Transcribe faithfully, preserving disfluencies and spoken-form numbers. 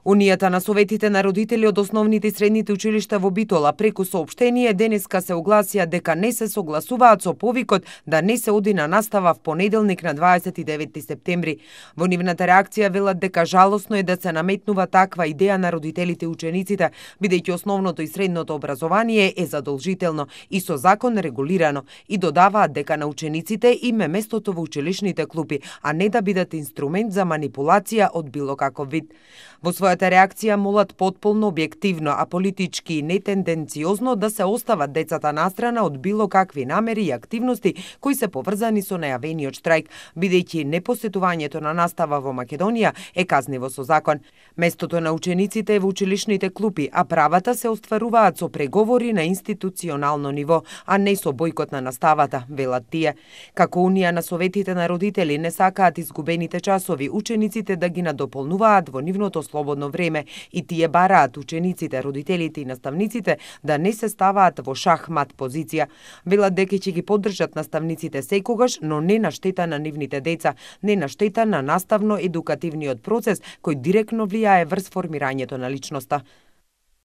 Унијата на советите на родители од основните и средните училишта во Битола преку соопштение денеска се огласија дека не се согласуваат со повикот да не се оди на настава в понеделник на дваесет и деветти септември. Во нивната реакција велат дека жалосно е да се наметнува таква идеја на родителите и учениците, бидејќи основното и средното образование е задолжително и со закон регулирано, и додаваат дека на учениците им е местото во училишните клупи, а не да бидат инструмент за манипулација од било каков вид. Во својата реакција молат потполно објективно, а политички и нетенденциозно да се остават децата настрана од било какви намери и активности кои се поврзани со најавениот штрајк, бидејќи непосетувањето на настава во Македонија е казниво со закон. Местото на учениците е во училишните клупи, а правата се остваруваат со преговори на институционално ниво, а не со бојкот на наставата, велат тие. Како Унија на советите на родители не сакаат изгубените часови учениците да ги надополнуваат во нивното слободно време и тие бараат учениците, родителите и наставниците да не се ставаат во шахмат позиција. Велат дека ќе ги поддржат наставниците секогаш, но не на штета на нивните деца, не на штета на наставно-едукативниот процес кој директно влијае врз формирањето на личноста.